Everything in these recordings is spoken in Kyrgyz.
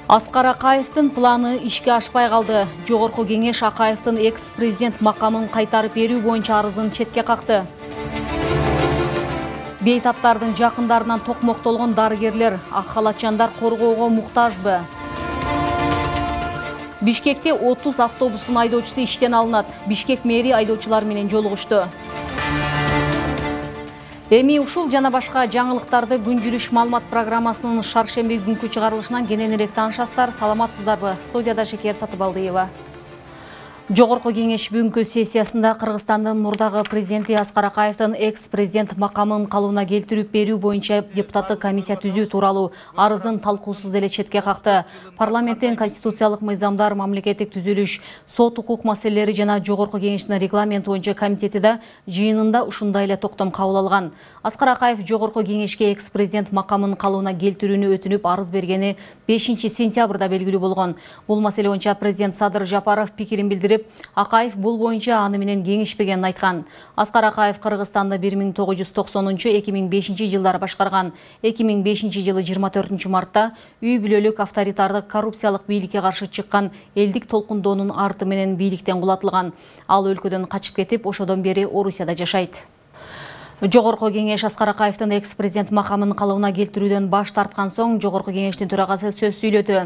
Аскар Акаевдин планы ишке ашпай калды. Жогорку кеңеш Акаевдин экс-президент макамын кайтарып берүү боюнча арызын четке какты. Бейтаптардын жакындарынан токмоктолгон дарыгерлер, ак халатчандар коргоого муктажбы? Бишкекте 30 автобустун айдоочусу иштен алынат. Бишкек мэри айдоочулар менен жолугушту. Эми ушул жана башка жаңылыктарды күн жүрүш маалымат программасынын шаршемби күнкү чыгарылышынан кененирээк таанышасыздар. Саламатсыздарбы? Студияда Шекер Сатыбалдиева. Жогорку кеңеш бүгүнкү сессиясында Кыргызстандын мурдагы президенти Аскар Акаевдин экс-президент макамын калыбына келтирип берүү боюнча депутаттык комиссия түзүү тууралуу арызын талкуусуз эле четке какты. Парламенттин конституциялык мыйзамдар, мамлекеттик түзүлүш, сот укук маселелери жана жогорку кеңештин регламенти боюнча комитети да жыйынында ушундай эле токтом кабыл алган. Аскар Акаев жогорку кеңешке экс-президент макамын калыбына келтирүүнү өтүнүп арыз бергени 5 сентябрда белгилүү болгон. Бул маселе боюнча президент Садыр Жапаров пикирин билдирип, Акаев бул боюнча аны менен кеңешпегенин айткан. Аскар Акаев Кыргызстанды 1990-2005 жылдары башкарган. 2005 жылы 24 мартта үй бүлөлүк авторитардык коррупциялык бийликке каршы чыккан элдик толкундоонун арты менен бийликтен кулатылган. Ал өлкөдөн качып кетип, ошодон бери Орусияда жашайт. Жогорку кеңеш Аскар Акаевдин экс-президент макамын калыбына келтирүүдөн баш тарткан соң жогорку кеңештин төрагасы сөз сүйлөдү.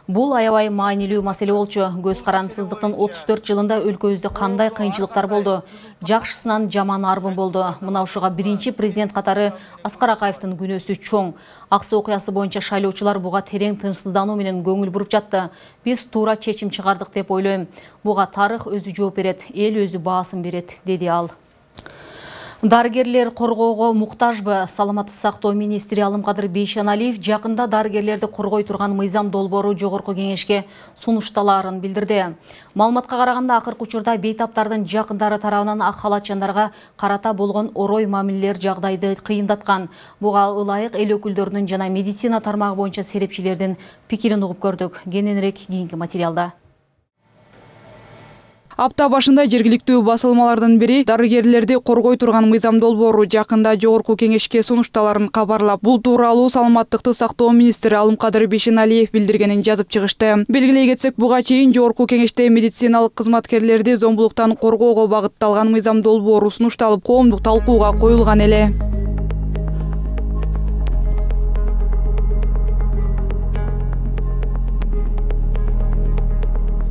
Бул аябай маанилүү маселе болчу. Көз карандысыздыктын 34 жылында өлкөбүздө кандай кыйынчылыктар болду? Жакшысынан жаман арбын болду. Мына ушуга биринчи президент катары Аскар Акаевдин күнөөсү чоң. Аксы окуясы боюнча шайлоочулар буга терең тынчсыздануу менен көңүл буруп жатты. Биз туура чечим чыгардык деп ойлойм. Буга тарых өзү жооп берет, эл өзү баасын берет, деди ал. Дарыгерлер коргоого муктажбы? Саламаттык сактоо министри Алымкадыр Бейшеналиев жакында дарыгерлерди коргой турган мыйзам долбоору жогорку кеңешке сунушталаарын билдирди. Маалыматка караганда, акыркы учурда бейтаптардын жакындары тарабынан ак халатчандарга карата болгон орой мамилелер жагдайды кыйындаткан. Буга ылайык эл өкүлдөрүнүн жана медицина тармагы боюнча серепчилердин пикирин угуп көрдүк. Кененирээк кийинки материалда. Апта башында жергиликтүү басылмалардын бири дарыгерлерди коргой турган мыйзам долбоору жакында жогорку кеңешке сунушталарын кабарлап, бул тууралуу саламаттыкты сактоо министри Алымкадыр Бейшеналиев билдиргенин жазып чыгышты. Белгилей кетсек, буга чейин жогорку кеңеште медициналык кызматкерлерди зомбулуктан коргоого багытталган мыйзам долбоору сунушталып, коомдук талкууга коюлган эле.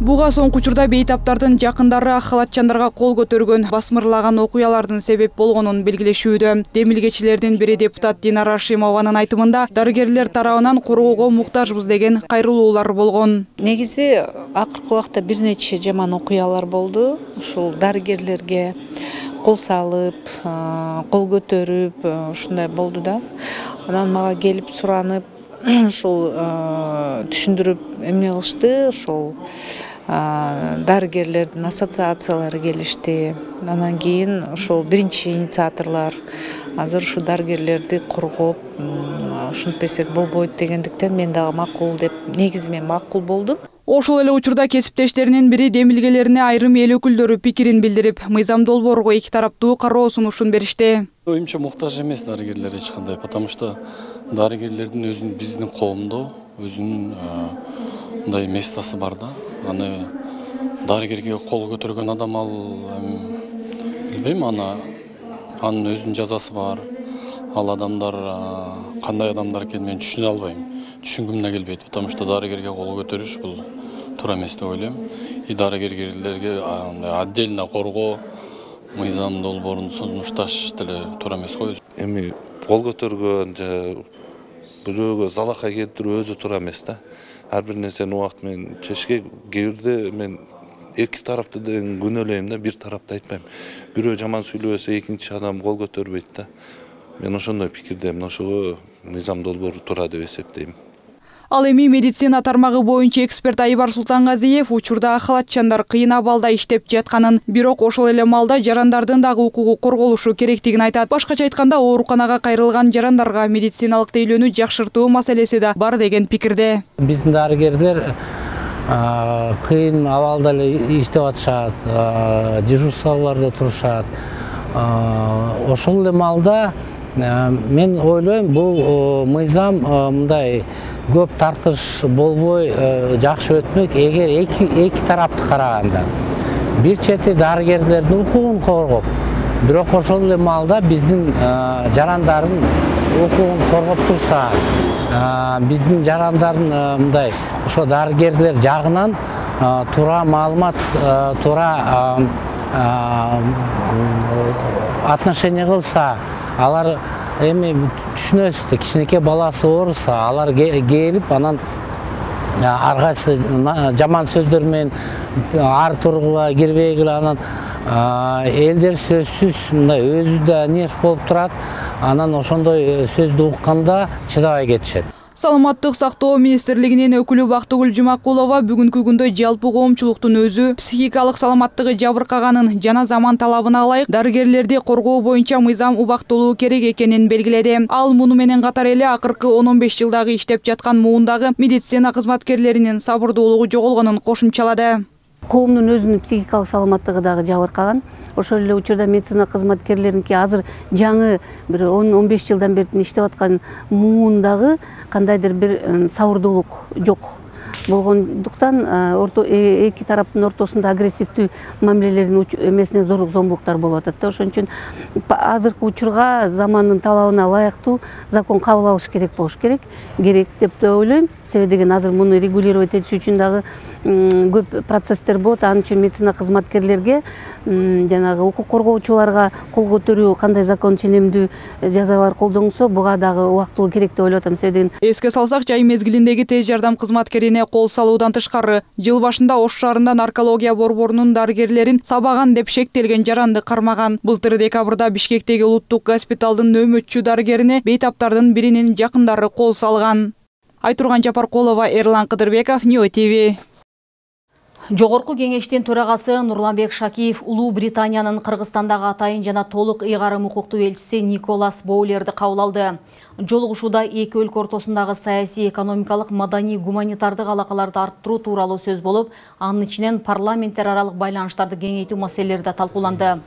Буга соңку учурда бейтаптардын жакындары ак халатчандарга кол көтөргөн, басмырлаган окуялардын себеп болгонун белгилешүүдө. Демилгечилердин бири депутат Динара Шимованын айтымында, дарыгерлер тарабынан коргоого муктажбыз деген кайрылуулар болгон. Негизи акыркы убакта бир нече жаман окуялар болду. Ушул дарыгерлерге кол салып, кол көтөрүп, ушундай болду да. Анан мага келип суранып, ушул түшүндүрүп эмне кылышты, ушул дарыгерлердин ассоциациялары келишти. Анан кийин ошол биринчи инициаторлор азыр ушу дарыгерлерди коргоп, ушинтпесек болбойт дегендиктен мен дагы макул деп, негизи мен макул болдум. Ошол эле учурда кесиптештеринин бири демилгелерине айрым эл өкүлдөрү пикирин билдирип, мыйзам долбоорго эки тараптуу кароо сунушун беришти. Оюмча муктаж эмес дарыгерлер эч кандай, потому что дарыгерлердин өзүнүн биздин коомдо өзүнүн мындай местасы бар да. Аны дарыгерге кол көтөргөн адам ал билбейм, анын өзүнүн жазасы бар. Ал адамдар кандай адамдар экенин мен түшүнө албайм. Түшүнгүм да келбейт, потому что дарыгерге кол көтөрүш бул туура эмес деп ойлойм. И дарыгерлерге отдельно коргоо мыйзам долбоорун сунушташ деле туура эмес го. Эми кол көтөргөн же бирөөгө залакай келтирүү өзү туура эмес да. Ар бир нерсени убакыт менен чечке, кээ бирде мен эки тарапты деген күнөөлөйм да, бир тарапты айтпайм. Бирөө жаман сүйлөбөсө экинчи адам кол көтөрбөйт да. Мен ошондой пикирдемин, ошого мыйзам долбоору туура деп эсептейм. Ал эми медицина тармагы боюнча эксперт Айбар Султангазиев учурда халатчандар кыйын абалда иштеп жатканын, бирок ошол эле маалда жарандардын дагы укугу корголушу керектигин айтат. Башкача айтканда, ооруканага кайрылган жарандарга медициналык тейлөөнү жакшыртуу маселеси да бар деген пикирде. Биздин дарыгерлер кыйын абалда эле иштеп атышат, дежурстволордо турушат. Ошол эле маалда мен ойлойм, бул мыйзам мындай көп тартыш болбой жакшы өтмөк, эгер эки тарапты караганда. Бир чети дарыгерлердин укугун коргоп, бирок ошол эле маалда биздин жарандардын укугун коргоп турса, биздин жарандардын мындай ошо дарыгерлер жагынан туура маалымат, туура отношение кылса, алар эми түшүнөсүз, кичинекей баласы ооруса, алар келип анан ар кайсы жаман сөздөр менен ар тургула кирбегиле, анан элдер сөзсүз мындай өзү да нерв болуп турат, анан ошондой сөздү укканда чыдабай кетишет. Саламаттык сактоо министрлигинин өкүлү Бактыгүл Жумакулова бүгүнкү күндө жалпы коомчулуктун өзү психикалык саламаттыгы жабыркаганын жана заман талабына ылайык дарыгерлерди коргоо боюнча мыйзам убактылуу керек экенин белгиледи. Ал муну менен катар эле акыркы 10-15 жылдагы иштеп жаткан муундагы медицина кызматкерлеринин сабырдуулугу жоголгонун кошумчалады. Коомдун өзүнүн психикалык саламаттыгы дагы жабыркаган. Ошол эле учурда медицина кызматкерлеринки азыр жаңы бир 10-15 жылдан бери иштеп аткан муундагы кандайдыр бир сабырдуулук жок болгондуктан эки тараптын ортосунда агрессивдүү мамилелердин эмесинен зорлук зомбулуктар болуп атат да. Ошон үчүн азыркы учурга замандын талабына ылайыктуу закон кабыл алыш керек болуш керек деп да ойлойм. Себеби деген азыр муну регулировать этиш үчүн дагы көп процесстер болот. Анын үчүн медицина кызматкерлерге жанагы укук коргоочуларга кол көтөрүү, кандай закон ченемдүү жазалар колдонсо, буга дагы убактылуу керек деп ойлоп атам. Себеби эске салсак, жай мезгилиндеги тез жардам кызматкерине кол салуудан тышкары, жыл башында Ош шаарында наркология борборунун дарыгерлерин сабаган деп шектелген жаранды кармаган. Былтыр декабрда Бишкектеги улуттук госпиталдын нөөмөтчү дарыгерине бейтаптардын биринин жакындары кол салган. Айтурган Жапаркулова, Эрлан Кыдырбеков, Ньюс ТВ. Жогорку кеңештин төрагасы Нурланбек Шакиев Улуу Британиянын Кыргызстандагы атайын жана толук ыйгарым укуктуу элчиси Николас Боулерди кабыл алды. Жолугушууда эки өлкө ортосундагы саясий, экономикалык, маданий, гуманитардык алакаларды арттыруу тууралуу сөз болуп, анын ичинен парламенттер аралык байланыштарды кеңейтүү маселелери да талкууланды.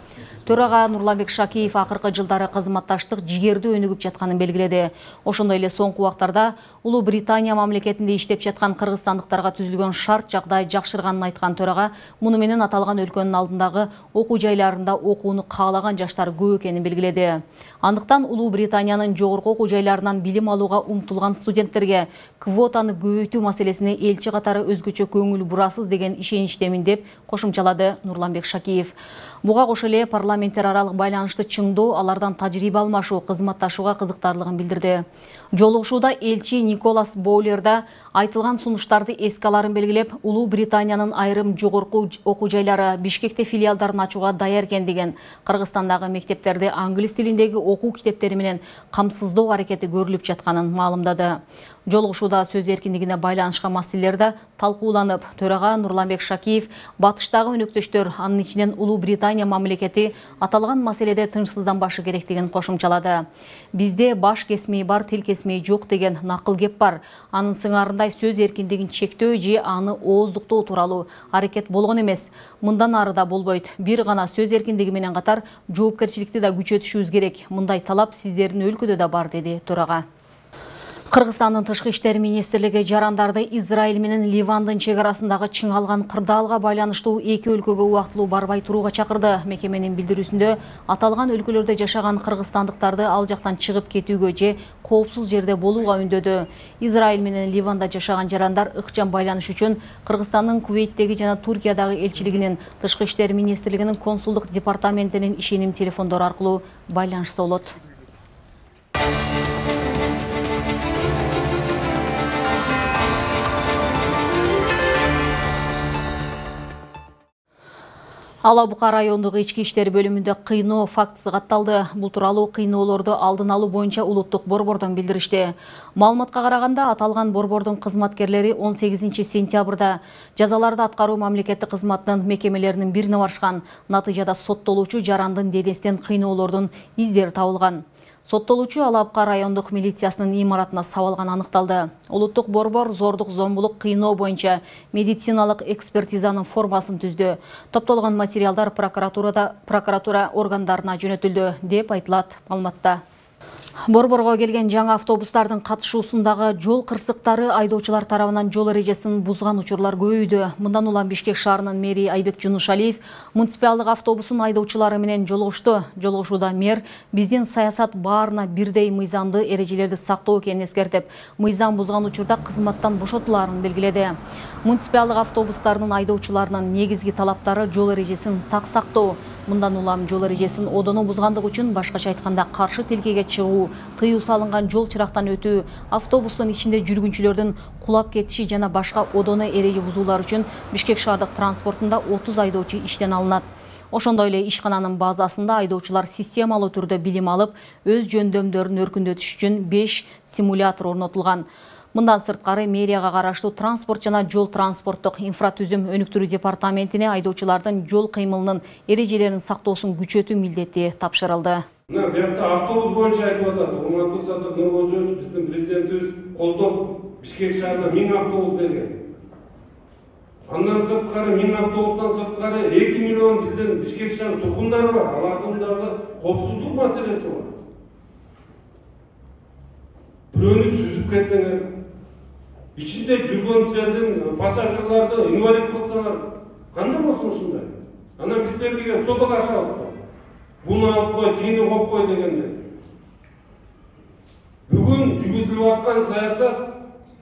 Төрага Нурланбек Шакиев акыркы жылдары кызматташтык жигердүү өнүгүп жатканын белгиледи. Ошондой эле соңку убактарда Улуу Британия мамлекетинде иштеп жаткан кыргызстандыктарга түзүлгөн шарт жагдай жакшырганын айткан төрага, муну менен аталган өлкөнүн алдындагы окуу жайларында окууну каалаган жаштар көп экенин белгиледи. Андыктан Улуу Британиянын жогорку окуу жайларынан билим алууга умтулган студенттерге квотаны көбөйтүү маселесине элчи катары өзгөчө көңүл бурасыз деген ишеничтемин деп кошумчалады Нурланбек Шакиев. Буга кошо эле парламенттер аралык байланышты чыңдоо, алардан тажрыйба алмашуу, кызматташууга кызыктарлыгын билдирди. Жолугушууда элчи Николас Боулер да айтылган сунуштарды эске аларын белгилеп, Улуу Британиянын айрым жогорку окуу жайлары Бишкекте филиалдарын ачууга даяр экендигин, Кыргызстандагы мектептерди англис тилиндеги окуу китептери менен камсыздоо аракети көрүлүп жатканын маалымдады. Жолугушууда сөз эркиндигине байланышкан маселелер да талкууланып, төрага Нурланбек Шакиев батыштагы өнөктөштөр, анын ичинен Улуу Британия мамлекети аталган маселеде тынчсызданбашы керектигин кошумчалады. Бизде баш кесмей бар, тил кесмей жок деген накыл кеп бар. Анын сыңарындай сөз эркиндигин чектөө же аны ооздуктоо тууралуу аракет болгон эмес. Мындан ары да болбойт. Бир гана сөз эркиндиги менен катар жоопкерчиликти да күчөтүшүбүз керек. Мындай талап сиздердин өлкөдө да бар, деди төрага. Кыргызстандын тышкы иштер министрлиги жарандарды Израиль менен Ливандын чек арасындагы чыңалган кырдаалга байланыштуу эки өлкөгө убактылуу барбай турууга чакырды. Мекеменин билдирүүсүндө аталган өлкөлөрдө жашаган кыргызстандыктарды ал жактан чыгып кетүүгө же коопсуз жерде болууга үндөдү. Израиль менен Ливанда жашаган жарандар ыкчам байланыш үчүн Кыргызстандын Кувейттеги жана Туркиядагы элчилигинин, тышкы иштер министрлигинин консулдук департаментинин ишеним телефондору аркылуу байланышса болот. Ала Бука райондук ички иштер бөлүмүндө кыйноо фактысы катталды. Бул тууралуу кыйноолорду алдын алуу боюнча улуттук борбордон билдиришти. Маалыматка караганда, аталган борбордун кызматкерлери 18 сентябрда жазаларды аткаруу мамлекеттик кызматынын мекемелеринин бирине барышкан. Натыйжада соттолуучу жарандын денесинен кыйноолордун издери табылган. Соттолуучу Ала Бука райондук милициясынын имаратына сабалганы аныкталды. Улуттук борбор зордук зомбулук кыйноо боюнча медициналык экспертизанын формасын түздү. Топтолгон материалдар прокуратура органдарына жөнөтүлдү деп айтылат маалыматта. Борборго келген жаңы автобустардын катышуусундагы жол кырсыктары айдоочулар тарабынан жол эрежесин бузган учурлар көбөйдү. Мындан улам Бишкек шаарынын мэри Айбек Жунушалиев муниципалдык автобусун айдоочулары менен жолугушту. Жолугушууда мэр биздин саясат баарына бирдей мыйзамды эрежелерди сактоо экенин эскертип, мыйзам бузган учурда кызматтан бошотуларын белгиледи. Муниципалдык автобустардын айдоочуларынын негизги талаптары жол эрежесин так сактоо. Мындан улам жол эрежесин одоно бузгандык үчүн, башкача айтканда каршы тилкеге чыгуу, тыюу салынган жол чырактан өтүү, автобустун ичинде жүргүнчүлөрдүн кулап кетиши жана башка одоно эреже бузуулар үчүн Бишкек шаардык транспортунда 30 айдоочу иштен алынат. Ошондой эле ишкананын базасында айдоочулар системалуу түрдө билим алып, өз жөндөмдөрүн өркүндөтүш үчүн 5 симулятор орнотулган. Мындан сырткары мэрияга караштуу транспорт жана жол транспорттук инфратүзүм өнүктүрүү департаментине айдоочулардын жол кыймылынын эрежелерин сактоосун күчөтүү милдети тапшырылды. Мына бuyakta автобус боюнча айтып атат. Урматтуу Садыр Нуркожоевич, биздин президентибиз колдоп Бишкек шаарына 1000 автобус берген. Андан сырткары 1000 автобустан сырткары 2 миллион биздин Бишкек шаарынын тургундары бар. Алардын дагы коопсуздук маселеси бар. Бирөөнү сүзүп кетсеңер, ичинде жүргөнсөрдүн пассажирларды инвалид кылсаңар, кандай болсун ушундай? Анан биз силерге соталашабыз. Буну алып кой, тигини коюп кой дегенде. Бүгүн жүргүзүлүп аткан саясат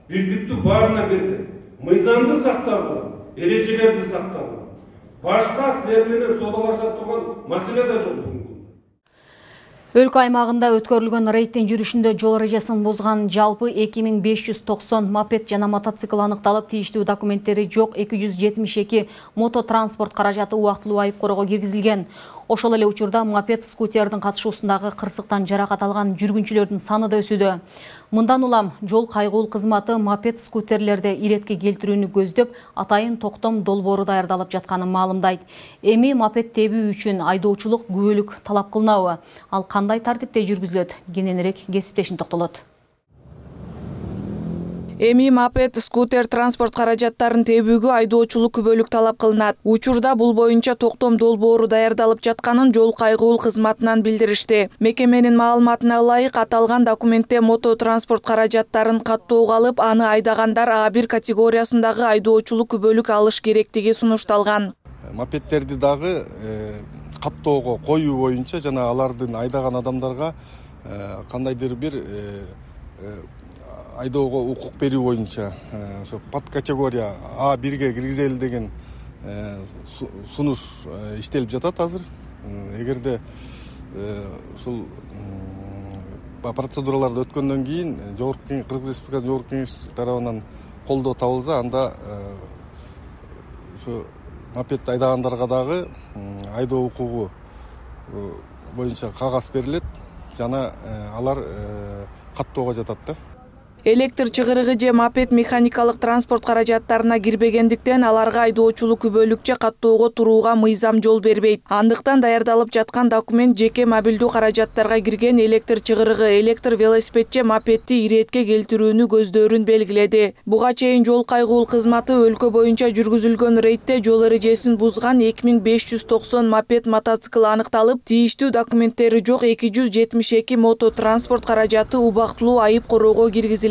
бийликтүү баарына берди. Мыйзамды сактагыла, эрежелерди сактагыла. Башка силер менен соталаша турган маселе да жок. Өлкө аймагында өткөрүлгөн рейдтин жүрүшүндө жол эрежесин бузган жалпы 2590 мопед жана мотоцикл аныкталып, тийиштүү документтери жок 272 мототранспорт каражаты убактылуу айып короого киргизилген. Ошол эле учурда мопед скутердин катышуусундагы кырсыктан жаракат алган жүргүнчүлөрдүн саны да өсүүдө. Мындан улам жол кайгуул кызматы мопед скутерлерди иретке келтирүүнү көздөп, атайын токтом долбоору даярдалып жатканын маалымдайт. Эми мопед тебүү үчүн айдоочулук күбөлүк талап кылынабы? Ал кандай тартипте жүргүзүлөт? Кененирээк кесиптешим токтолот. Эми мопед, скутер, транспорт каражаттарын тебүүгө айдоочулук күбөлүк талап кылынат. Учурда бул боюнча токтом долбоору даярдалып жатканын жол кайгуул кызматынан билдиришти. Мекеменин маалыматына ылайык, аталган документте мото транспорт каражаттарын каттоого алып, аны айдагандар А1 категориясындагы айдоочулук күбөлүк алыш керектиги сунушталган. Мопедтерди дагы каттоого коюу боюнча жана алардын айдаган адамдарга кандайдыр бир айдоого укук берүү боюнча ошо подкатегория А1ге киргизели деген сунуш иштелип жатат азыр. Эгерде ушул процедураларды өткөндөн кийин Кыргыз Республикасынын Жогорку Кеңеш тарабынан колдоо табылса, анда ушу мопед айдагандарга дагы айдоо укугу боюнча кагаз берилет жана алар каттоого жатат да. Электр чыгырыгы же мопед механикалык транспорт каражаттарына кирбегендиктен аларга айдоочулук күбөлүкчө каттоого турууга мыйзам жол бербейт. Андыктан даярдалып жаткан документ жеке мобилдүү каражаттарга кирген электр чыгырыгы, электр велосипед же мопедти иретке келтирүүнү көздөрүн белгиледи. Буга чейин жол кайгуул кызматы өлкө боюнча жүргүзүлгөн рейдте жол эрежесин бузган 2590 мопед, мотоцикл аныкталып, тийиштүү документтери жок 272 мото транспорт каражаты убактылуу айып короого киргизилген.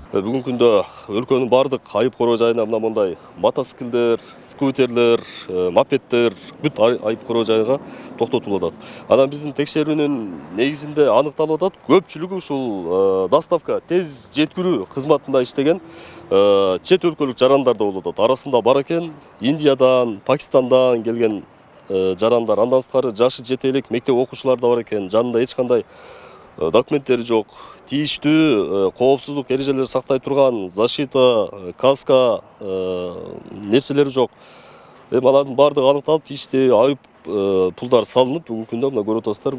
Бүгүнкү күндө өлкөнүн бардык айып короо жайына мына мондай мотоциклдер, скутерлер, мопеддер бүт айып короо жайга токтотулуп атат. Анан биздин текшерүүнүн негизинде аныкталып атат, көпчүлүгү ушул доставка, тез жеткирүү кызматында иштеген чет өлкөлүк жарандар да болуп атат. Арасында бар экен Индиядан, Пакистандан келген жарандар, андан сырткары жашы жете элек мектеп окуучулар да бар экен. Жанында эч кандай документтери жок. Тийиштүү коопсуздук эрежелерин сактай турган защита, каска нерселери жок. Эми алардын баардыгы аныкталып, тийиштүү айып пулдар салынып, бүгүнкү күндө мына көрүп атасыздар,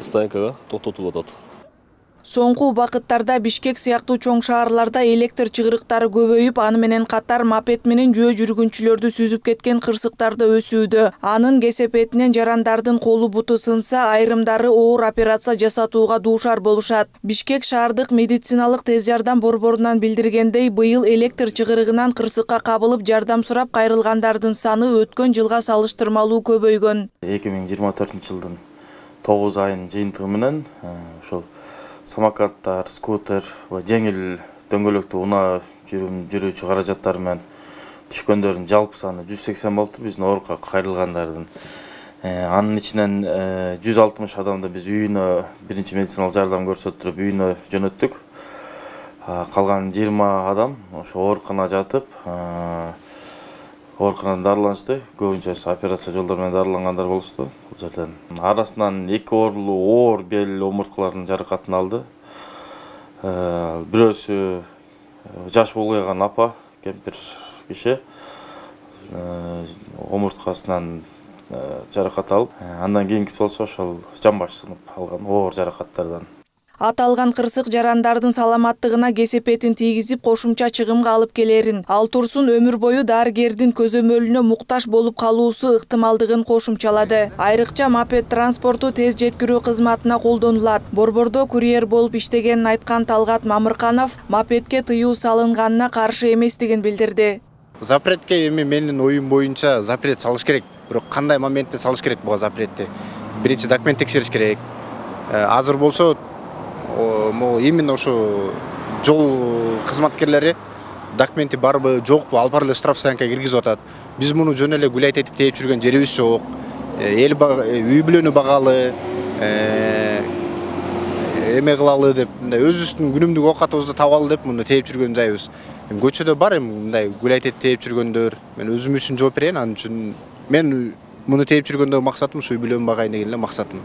стоянкага токтотулуп атат. Соңку убакыттарда Бишкек сыяктуу чоң шаарларда электр чыгырыктары көбөйүп, аны менен катар мопед менен жөө жүргүнчүлөрдү сүзүп кеткен кырсыктар да өсүүдө. Анын кесепетинен жарандардын колу буту сынса, айрымдары оор операция жасатууга дуушар болушат. Бишкек шаардык медициналык тез жардам борборунан билдиргендей, быйыл электр чыгырыгынан кырсыкка кабылып жардам сурап кайрылгандардын саны өткөн жылга салыштырмалуу көбөйгөн. 2024-жылдын 9 айынын жыйынтыгы менен ошол самокаттар, скутер ва жеңил дөңгөлөктүү унаа жүрүүчү каражаттар менен түшкөндөрдүн жалпы саны 180 болуптур. Биздин оорукка кайрылгандардын анын ичинен 160 адамды биз үйүнө биринчи медициналык жардам көрсөтүп үйүнө жөнөттүк. Калган 20 адам ошо ооруканага жатып, ооруканадан дарыланышты. Көбүнчөсү операция жолдору менен дарылангандар болушту. Бул жерден арасынан 2 оорлуу оор бел омурткаларынын жаракатын алды. Бирөөсү жаш улгайган апа, кемпир киши омурткасынан жаракат алып, андан кийинкиси болсо ошол жамбаш сынып алган оор жаракаттардан. Аталган кырсык жарандардын саламаттыгына кесепетин тийгизип, кошумча чыгымга алып келерин, ал турсун өмүр бою дарыгердин көзөмөлүнө муктаж болуп калуусу ыктымалдыгын кошумчалады. Айрыкча мопед транспорту тез жеткирүү кызматына колдонулат. Борбордо курьер болуп иштегенин айткан Талгат Мамырканов мопедке тыюу салынганына каршы эместигин билдирди. Запретке эми менин оюм боюнча запрет салыш керек. Бирок кандай моментте салыш керек буга запретти? Биринчи документ текшериш керек. Азыр болсо именно ошо жол кызматкерлери документи барбы, жокпу, алып барып эле штрафстоянкага киргизип атат. Биз муну жөн эле гулять этип тээп жүргөн жерибиз жок. Үй бүлөнү багалы, эме кылалы деп, мындай өзүбүздүн күнүмдүк оокатыбызды табалы деп муну тээп жүргөн жайыбыз. Көчөдө бар эми мындай гулять этип тээп жүргөндөр. Мен өзүм үчүн жооп берейин, анын үчүн мен муну тээп жүргөндөгү максатым ушу үй бүлөмдү багайын деген эле максатым.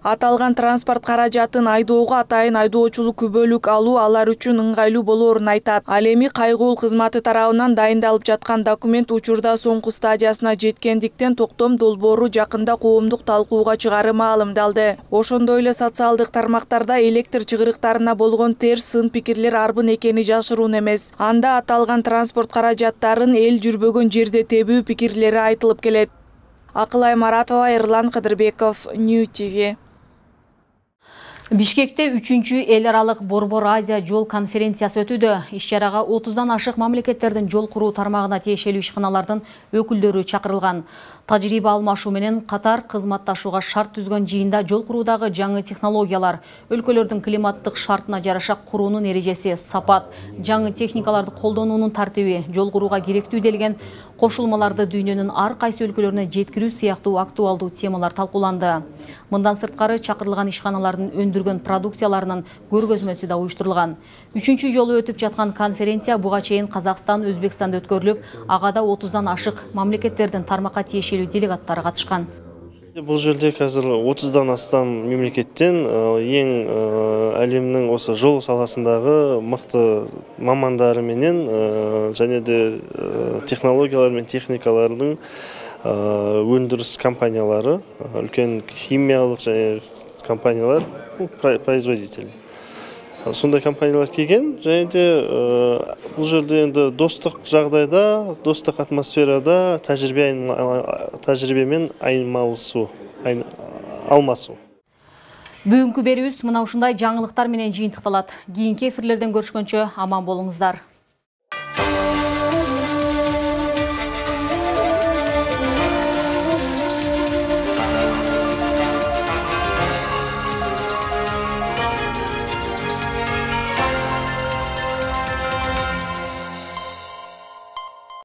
Аталган транспорт каражатын айдоого атайын айдоочулук күбөлүк алуу алар үчүн ыңгайлуу болоорун айтат. Ал эми кайгуул кызматы тарабынан дайындалып жаткан документ учурда соңку стадиясына жеткендиктен токтом долбоору жакында коомдук талкууга чыгаары маалымдалды. Ошондой эле социалдык тармактарда электр чыгырыктарына болгон терс сын пикирлер арбын экени жашыруун эмес. Анда аталган транспорт каражаттарын эл жүрбөгөн жерде тебүү пикирлери айтылып келет. Акылай Маратова, Эрлан Кадырбеков, New TV. Бишкекте 3-чү эл аралык Борбор Азия жол конференциясы өтүүдө. Иш-чарага 30дан ашык мамлекеттердин жол куруу тармагына тиешелүү ишканалардын өкүлдөрү чакырылган. Тажрыйба алмашуу менен катар кызматташууга шарт түзгөн жыйында жол куруудагы жаңы технологиялар, өлкөлөрдүн климаттык шартына жараша куруунун эрежеси, сапат, жаңы техникаларды колдонуунун тартиби, жол курууга керектүү делген кошулмаларды дүйнөнүн ар кайсы өлкөлөрүнө жеткирүү сыяктуу актуалдуу темалар талкууланды. Мындан сырткары чакырылган ишканалардын өндүргөн продукцияларынын көргөзмөсү да уюштурулган. 3-чү жолу өтүп жаткан конференция буга чейин Казакстан, Өзбекстанда өткөрүлүп, ага да 30дан ашык мамлекеттердин тармакка тиешелүү делегаттары катышкан. Бул жерде азыр 30дан астам мемлекеттен эң әлемнин осы жол саласындагы мыкты мамандары менен және де технологиялар мен техникалардын өндүрүш компаниялары, үлкен химиялык және компаниялар, производители. Сондай компаниялар келген, және де бұл жерде енді достық жағдайда, достық атмосферада тәжірибемен алмасу. Бүгүнкү берүүбүз мына ушундай жаңылыктар менен жыйынтыкталат. Кийинки эфирлерден көрүшкөнчө аман болуңуздар.